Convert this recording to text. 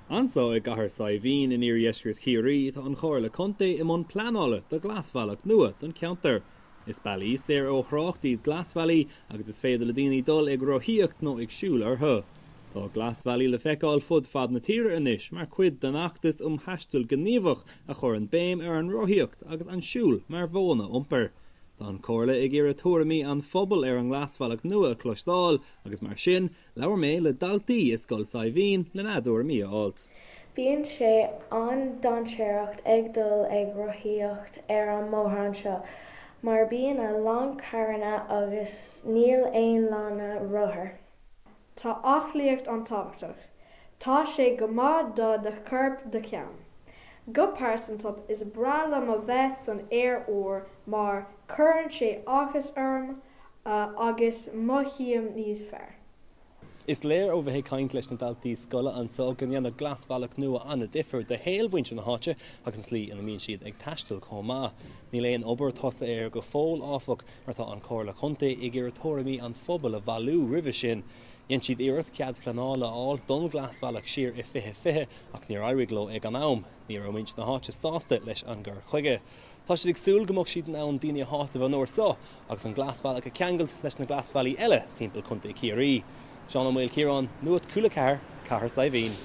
Anso i gCathair Saidhbhín in iardheisceart Chiarraí tá an Chomhairle Contae i mbun pleanála do ghlasbhealach nua don cheantar. Is bealaí saor ó thrácht iad glasbhealaí agus is féidir le daoine dul ag rothaíocht nó ag siúl orthu. Tá glasbhealaí le feiceáil fud fad na tíre anois mar chuid den fheachtas um thaisteal gníomhach a chuireann béim ar an rothaíocht agus an siúl mar mhodhanna iompair. Tá an Chomhairle ag iarraidh tuairimí an phobail ar an nglasbhealach nua a chloisteáil agus mar sin Labhair mé le daltaí i Scoil Saidhbhín lena dtuairimí a fháilt. Bíonn sé an-dainséarach ag dul ag rothaíocht ar an mbóthar anseo mar bíonn a lán carranna agus níl aon lána rothar. Tá aclaíocht an-tábhachtach. Tá sé go maith do do chorp do cheann. Go pearsanta is breá liom a bheith san aer úr mar cuireann sé áthas orm agus mothaím níos fearr. Is léir ó bheith ag caint leis na daltaí scoile anso go ndéanfadh glasbhealach nua an-difear do shaol mhuintir na háite agus an tslí ina mbíonn siad ag taisteal chomh maith. Níl aon obair tosaithe air go fóill, áfach, mar tá an Chomhairle Contae ag iarraidh tuairimí an phobail a bhailiú roimhe sin. Dhein siad iarracht cead pleanála a fháil don ghlasbhealach siar i 2020 ach níor éirigh leo ag an am. Ní raibh muintir na háite sásta leis an gcur chuige. Tá siad ag súil go mbeadh siad in ann daoine a shásamh an uair seo agus an glasbhealach a cheangailt leis na glasbhealaí eile timpeall Chontae Chiarraí. Seán Ó Maoilchiaráin, Nuacht Cúla 4, Cathair Saidhbhín.